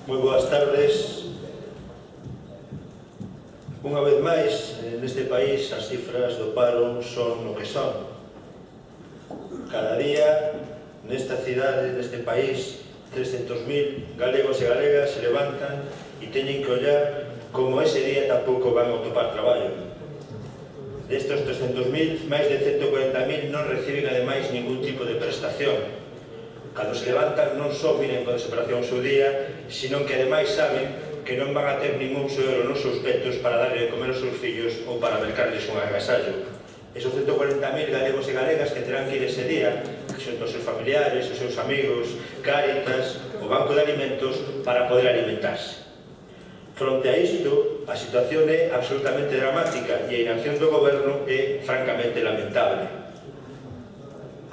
Moi boas tardes. Unha vez máis, neste país as cifras do paro son o que son. Cada día, nesta cidade, neste país, 300.000 galegos e galegas se levantan e teñen que ollar como ese día tampouco van a topar traballo. Destes 300.000, máis de 140.000 non reciben ademais ningún tipo de prestación. Cando se levantan non só miren con desesperación o seu día, sino que ademais saben que non van a ter ningún só euro nos seus petos para darle de comer aos seus fillos ou para mercarles un agasallo. Esos 140.000 galegos e galegas que terán que ir ese día, xunto aos seus familiares, os seus amigos, Cáritas, o Banco de Alimentos, para poder alimentarse. Fronte a isto, a situación é absolutamente dramática e a inacción do goberno é francamente lamentable.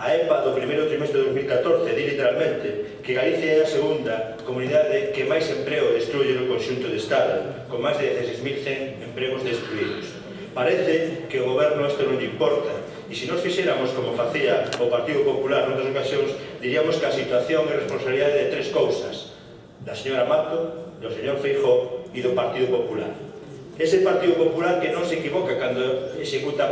A EPA do primeiro trimestre de 2014 di literalmente que Galicia é a segunda comunidade que máis emprego destruye no conxunto do Estado, con máis de 16.100 empregos destruídos. Parece que o goberno isto non lle importa, e se nos fixéramos como facía o Partido Popular noutras ocasións, diríamos que a situación é responsabilidade de tres cousas: da señora Mato, do señor Feijóo e do Partido Popular. Ese Partido Popular que non se equivoca cando executa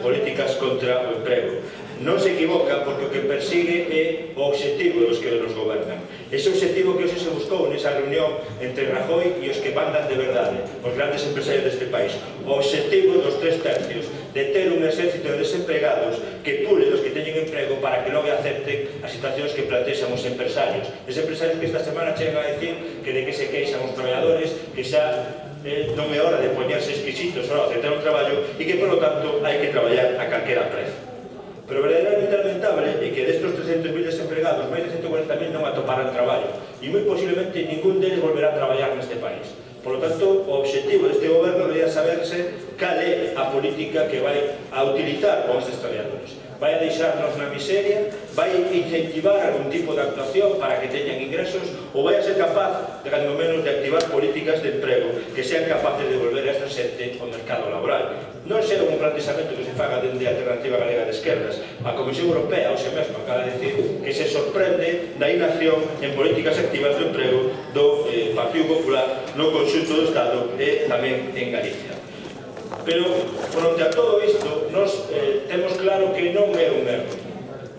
políticas contra o emprego. Non se equivoca porque o que persigue é o obxectivo dos que nos gobernan. Ese obxectivo que hoxe se buscou nesa reunión entre Rajoy e os que mandan de verdade, os grandes empresarios deste país. O obxectivo dos 3/3, de ter un exército de desempregados que pule dos que teñen emprego para que logo acepten as situacións que plantexan os empresarios. Os empresarios que esta semana chegan a decir que de que se queixan os traballadores, que xa non é hora de poñerse exquisitos para aceptar un traballo e que, por lo tanto, hai que traballar a calquera prezo. Pero verdadeiramente lamentable é que destos 300.000 desempregados, máis de 140.000 non atoparan traballo e moi posiblemente ningún deles volverá a traballar neste país. Por lo tanto, o obxectivo deste goberno debería saberse cal é a política que vai a utilizar con estes traballadores. Vai a deixarnos na miseria, vai a incentivar algún tipo de actuación para que teñan ingresos, ou vai a ser capaz, de cando menos, de activar políticas de emprego que sean capaces de volver a esta xente ao mercado laboral. Non será un planteamento que se faga dende a Alternativa Galega de Esquerdas. A Comisión Europea, hoxe mesmo, acaba de decir que se sorprende da inacción en políticas activas do emprego do Partido Popular no conxunto do Estado e tamén en Galicia. Pero, fronte a todo isto, nos temos claro que non é un erro,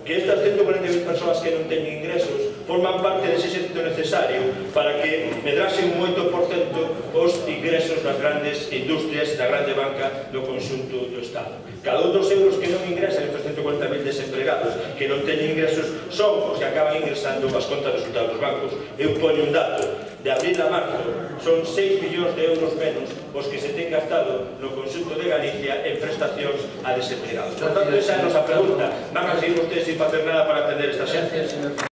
que estas 140.000 persoas que non teñen ingresos forman parte dese exército necesario para que medrasen un 8% os ingresos das grandes industrias da grande banca do conxunto do Estado. Cada un dos euros que non ingresan estes 140.000 desempregados que non teñen ingresos son os que acaban ingresando as contas de resultados dos bancos. Eu poño un dato: de abril a marzo son 6 millóns de euros menos os que se ten gastado no conxunto de Galicia en prestacións a desempregados. Por tanto, esa é a nosa pregunta: van a seguir vostedes sin facer nada para atender esta xente?